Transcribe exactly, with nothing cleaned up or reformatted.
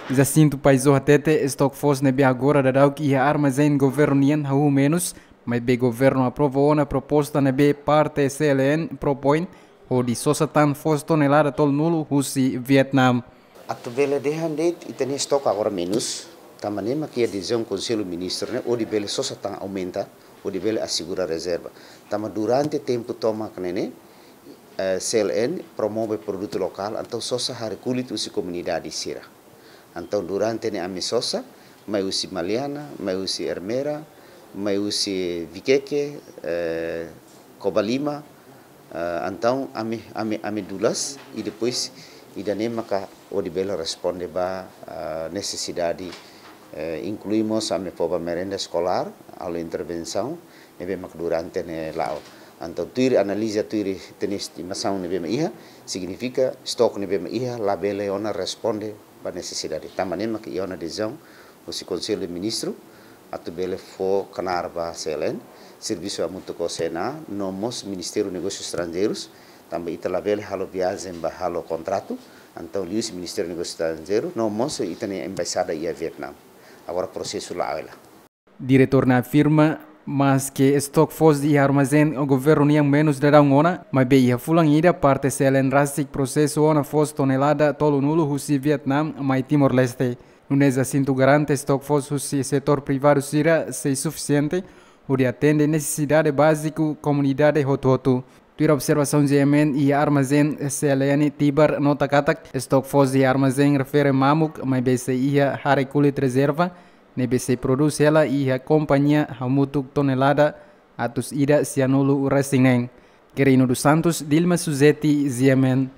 Jacinto Paizo hatete, estok foos ne'ebé agora daudauk iha armazén governu nian hahú menus, maibé governu aprova ona proposta ne'ebé parte C L N propoin, hodi sosa tan foos tonelada tolunulu husi Vietnam. Atu bele dehan de'it ita-nia estok agora menus, tanba ne'e mak iha desizaun Konsellu Ministru ne'e hodi bele sosa tan aumenta, hodi bele asegura rezerva. Tanba durante tempu tomak ne'e ne'e, eh, C L N promove produtu lokál, entaun sosa hare kulit husi komunidade sira. Entaun durante ne'e ami sosa, mai husi Maliana, mai husi Ermera, mai husi Viqueque, eh, Covalima, eh, entaun ami, ami, ami dulas, i depois ida-ne'e maka hodi bele responde ba, eh, nesesidade, eh, inklui mós ami fó ba merenda eskolár, halo intervensaun, ne'ebé mak durante ne'e la'o. Entaun tuir analiza, tuir ita-nia estimasaun ne'ebé mak iha, signifika estok ne'ebé mak iha labele ona responde ba nesesidade. Tanba ne'e mak iha ona desizaun husi Konsellu de Ministru atu bele fó knaar ba C L N, servisu hamutuk ho C N A, no mós Ministériu Negósius Estranjeirus, tanba ita labele halo viajen ba halo kontratu, entaun liuhusi Ministériu Negósius Estranjeirus, no mós ita-nia embaixada iha Vietnam. Agora prosesu la'o hela. Diretór ne'e afirma, maske estok foos iha armazén governu nian menus daudaun ona, maibé iha fulan ida parte C L N rasik prosesu ona foos tonelada tolunulu husi Vietnam mai Timor-Leste. Nune'e Jacinto garante estok foos husi setór privadu sira sei sufisiente hodi atende nesesidade báziku komunidade hotu-hotu. Tuir observasaun G M N iha armazén C L N Tibar nota katak, estok foos iha armazén refere mamuk, maibé sei iha hare kulit rezerva, ne'ebé sei prodús hela iha kompañia hamutuk tonelada atus ida sianulu resin neen. Quirino dos Santos, Dilma Suzeti, G M N.